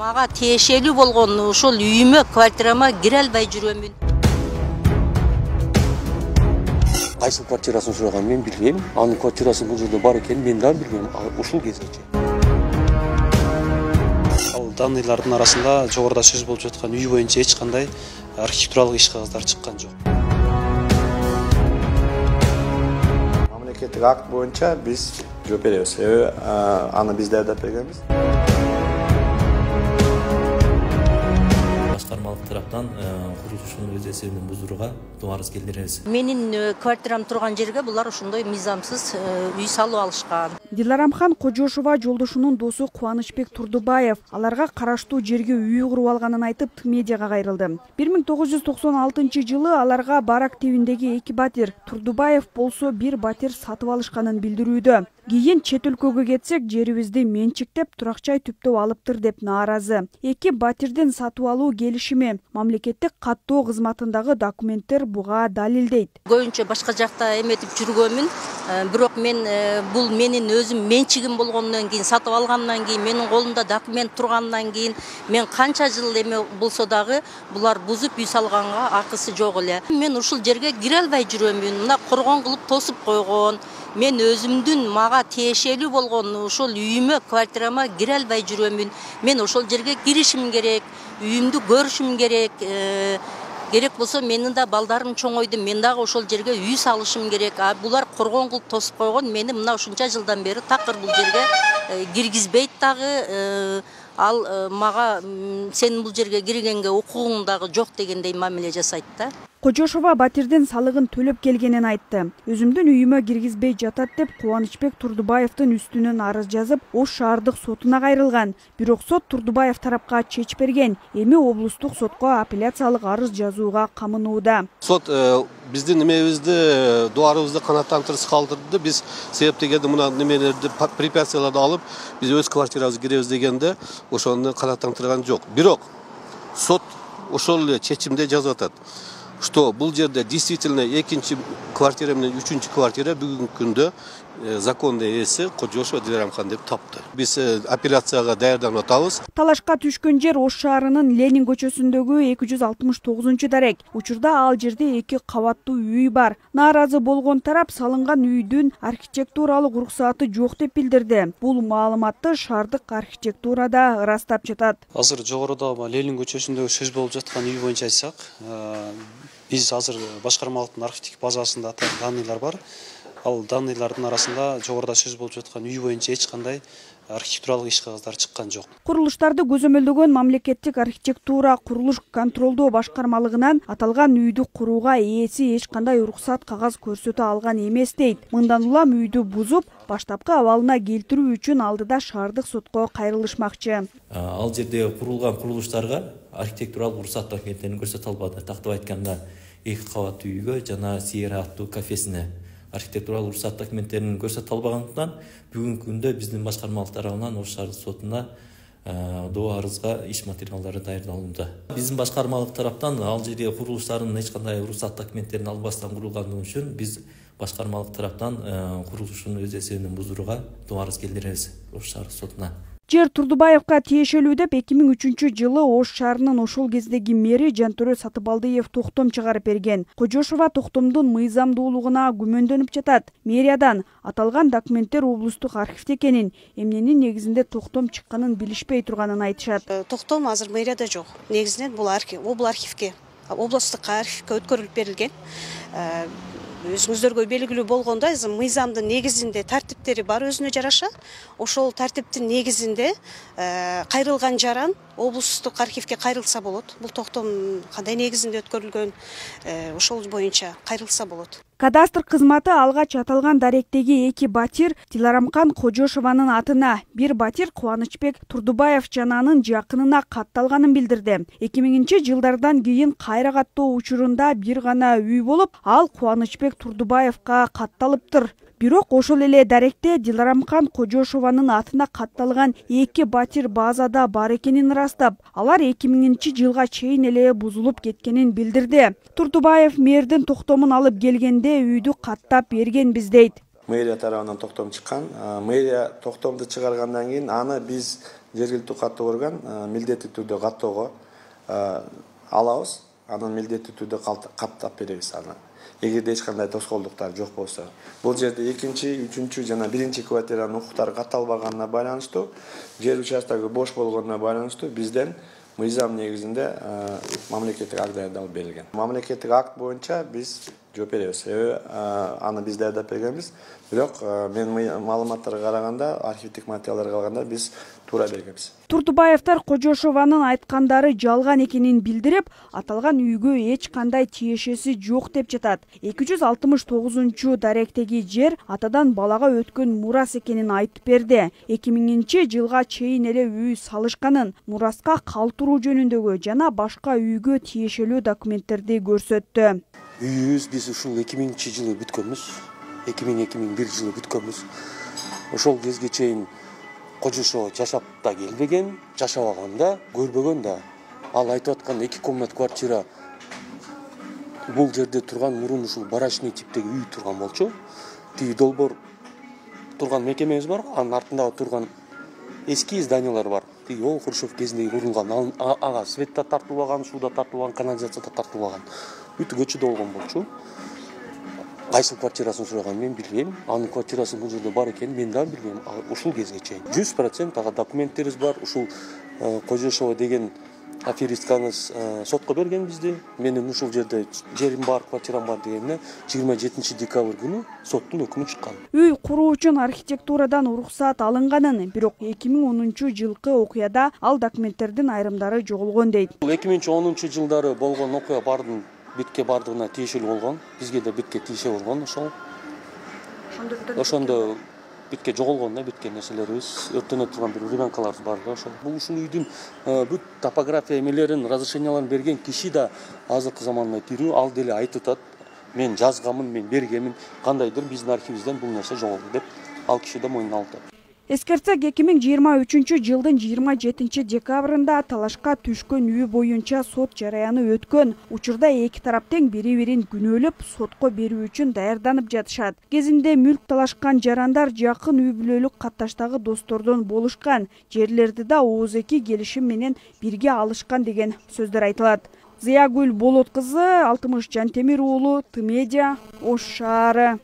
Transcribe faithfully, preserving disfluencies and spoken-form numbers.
Мага тиешелүү болгон ошол үйүмө, квартирама кире албай жүрөмүн. Кайсы квартирасын сураганын мен билбейм. Анын квартирасы бул жерде бар экенин мен да билбейм. Ушул кезгече. Ал данныйлардын арасында жогоруда сөз болуп жаткан үй боюнча эч кандай архитектуралык иш кагаздар чыккан жок. Мамлекеттик акт боюнча биз жооп беребиз. Себеби аны биздер да бергенбиз. Башкармалык тараптан курулушун өз эсебинен бузууга арыз келдиребиз. Менин квартирам турган жерге булар ошондой мыйзамсыз үй салып алышкан. Диларамхан Кожошова жолдошунун досу Кубанычбек Турдубаев аларга караштуу жерге үй куруп алганын айтып медиага кайрылды. бир миң тогуз жүз токсон алтынчы жылы аларга барак тебиндеги эки батир, Турдубаев болсо бир батир сатып алышканын билдирүүдө. Кийин чет өлкөгө кетсек, жерибизди менчиктеп, турак-жай түптөп алыптыр деп нааразы. Эки батирдин сатып алуу келишими мамлекеттик каттоо кызматындагы документтер буга далилдейт. Көбүнчө башка жакта эметип жүргөнмүн, бирок мен бул менин өзүм менчигим болгондон кийин, сатып алгандан кийин, менин колумда документ тургандан кийин, мен канча жыл эме болсо дагы булар бузуп үй салганга акысы жок эле. Мен ушул жерге кире албай жүрөмүн. Мына коргон кылып тосуп койгон. Мен өзүмдүн мага тиешелүү болгон ошол үйүмө, квартирама кире албай жүрөмүн. Мен ошол жерге киришим керек, үйүмдү көрүшүм керек. Керек болсо менин да балдарым чоңойду, мен дагы ошол жерге үй салышым керек. А булар коргон кылып тосуп койгон, мени мына ушунча жылдан бери такыр бул жерге киргизбейт дагы. Ал мага сен бул жерге киргенге укугуң дагы жок дегендей мамиле жасайт да. Кожошова батирдин салыгын төлөп келгенин айтты. Өзүмдүн үйүмө киргизбей жатат деп Кубанычбек Турдубаевдин үстүнөн арыз жазып, Ош шаардык сотуна кайрылган. Бирок сот Турдубаев тарапка чеч берген. Эми облустук сотко апелляциялык арыз жазууга камынууда. Сот биздин немебизди, дуарыбызды канааттандырып калтырды. Биз себеп дегенде мына немелерди, препятствияларды алып, биз өз квартирабызга киребиз дегенде ошону канааттандырган жок. Бирок сот ошол эле чечимде жазып атат, что бул жерде действительно экинчи квартира менен үчүнчү квартира бүгүнкү күндө закондуу ээси Кожошова Диларамхан деп тапты. Биз апелляцияга даярданып атабыз. Талашка түшкөн жер Ош шаарынын Ленин көчөсүндөгү эки жүз алтымыш тогузунчу дарек. Учурда ал жерде эки кабаттуу үй бар. Нааразы болгон тарап салынган үйдүн архитектуралык уруксааты жок деп билдирди. Бул маалыматты шаардык архитектурада ырастап жатат. Азыр жогоруда Ленин көчөсүндөгү сөз болуп жаткан үй боюнча айтсак, биз азыр башкармалыктын архивдик базасында данныйлар бар. Ал данныйлардын арасында жогоруда сөз болуп жаткан үй боюнча эч кандай архитектуралык иш кагаздар чыккан жок. Курулуштарды көзөмөлдөгөн мамлекеттик архитектура курулуш контролдоо башкармалыгынан аталган үйдү курууга ээси эч кандай уруксат кагаз көрсөтө алган эмес дейт. Мындан улам үйдү бузуп, баштапкы абалына келтирүү үчүн алдыда шаардык сотко кайрылышмакчы. Ал жерде курулган курулуштарга архитектуралык уруксат документтерин көрсөтө албады. Тактап айтканда, эки кабаттуу үйгө жана Сиера аттуу кафесине архитектуралык уруксат документтерин көрсөтө албагандыктан бүгүнкү күндө биздин башкармалык тарабынан Ош шаардык сотуна доо арызга иш материалдары даярдалууда. Биздин башкармалык тараптан ал жерде курулуштардын эч кандай уруксат документтерин албастан курулгандыгы үчүн биз башкармалык тараптан курулушун өз эсебинен бузууга доо арыз келдиребиз Ош шаардык сотуна. Жер Турдубаевка тиешелүү деп эки миң үчүнчү жылы Ош шаарынын ошол кездеги мэри Жантөрө Сатыбалдиев токтом чыгарып берген. Кожошова токтомдун мыйзамдуулугуна күмөндөнүп жатат. Мэриядан аталган документтер облустук архивде экенин, эмненин негизинде токтом чыкканын билишпей турганын айтышат. Токтом азыр мэрияда жок. Негизинен бул архив, бул архивге, облустук архивге өткөрүлүп берилген. Өзүңүздөргө белгилүү болгондой, мыйзамдын негизинде тартиптери бар өзүнө жараша. Ошол тартиптин негизинде кайрылган жаран облустук архивге кайрылса болот. Бул токтом кандай негизинде өткөрүлгөн, ошол боюнча кайрылса болот. Кадастр кызматы алгач аталган даректеги эки батир Диларамхан Кожошованын атына, бир батир Кубанычбек Турдубаев жана анын жакынына катталганын билдирди. эки миңинчи жылдардан кийин кайра каттоо учурунда бир гана үй болуп, ал Кубанычбек Турдубаевка катталыптыр. Бирок ошол эле даректе Диларамхан Кожошованын атына катталган эки батир базада бар экенин ырастап, алар эки миңинчи жылга чейин эле бузулуп кеткенин билдирди. Турдубаев мэрдин токтомун алып келгенде үйдү каттап бергенбиз дейт. мэрия тарабынан токтом чыккан. Мэрия токтомду чыгаргандан кийин аны биз жергиликтүү каттоо орган милдеттүү түрдө каттоого алабыз. Анын милдеттүү түрдө каттап беребиз аны. Эгерде эч кандай тоскоолдуктар жок болсо. Бул жерде экинчи, үчүнчү жана биринчи квартиранын укуктары катталбаганына байланыштуу, жер участогу бош болгонуна байланыштуу бизден мыйзам негизинде мамлекеттик акт даярдалып берилген. Мамлекеттик акт боюнча биз жооп беребиз. Себеби аны биз даярдап бергенбиз. Бирок мен маалыматтарга караганда, архивдик материалдарга караганда биз туура бергенбиз. Турдубаевдер Кожошованын айткандары жалган экенин билдирип, аталган үйгө эч кандай тиешеси жок деп жатат. эки жүз алтымыш тогузунчу даректеги жер атадан балага өткөн мурас экенин айтып берди. эки миңинчи жылга чейин эле үй салышканын, мураска калтыруу жөнүндөгү жана башка үйгө тиешелүү документтерди көрсөттү. Үйүбүз биз ушул эки миңинчи жылы бүткөнбүз. эки миң эки миң бир жылы бүткөнбүз. Ошол кезге чейин Кожошова жашап да келбеген, жашабаган да, көрбөгөн да. Ал айтып аткан эки комнат квартира бул жерде турган мурун ушул барачный типтеги үй турган болчу. Тиги долбоор турган мекемебиз бар, анын артында турган эски зданиялар бар. Тиги ол Хрущев кезинде курулган, ага свет да тартылбаган, суу да тартылбаган, канализация да тартылбаган. Бүт көчөдө болгон болчу. Кайсыл квартирасын сураган мен билбейм. Анын квартирасы бул жерде бар экенин мен да билбейм. Ушул кезге чейин жүз процент ага документтерибиз бар. Ушул Кожошова деген аферисткаңыз сотко берген бизди. Менин ушул жерде жерим бар, квартирам бар дегенине жыйырма жетинчи декабрь күнү соттун өкүмү чыккан. Үй куруу үчүн архитектурадан уруксаат алынганын, бирок эки миң онунчу жылкы окуяда ал документтердин айрымдары жоголгон дейт. эки миң онунчу жылдары болгон окуя бардын битке бардыгына тиешелүү болгон. Бизге да битке тиеше болгон ошол. Ошондо битке жоголгон да биткен нерселерибиз, өртөнө турган бир времянкаларыбыз бар да ошол. Бул ушул үйдүн бүт топография эмелерин, разрешенияларын берген киши да азыркы заманда тирүү, ал деле айтып атат. Мен жазганмын, мен бергенмин, кандайдыр биздин архивибизден бул нерсе жоголду деп ал киши да мойнуна алды. Эскертсек, эки миң жыйырма үчүнчү жылдын жыйырма жетинчи декабрында талашка түшкөн үй боюнча сот жараяны өткөн. Учурда эки тарап тең бири-бирин күнөөлөп сотко берүү үчүн даярданып жатышат. Кезинде мүлк талашкан жарандар жакын үй бүлөлүк катташтагы достордон болушкан. Жерлерди да ооз-эки келишим менен бирге алышкан деген сөздөр айтылат. Зыягүл Болот кызы, Алтымыш Жантемир уулу, Ты медиа, Ош шаары.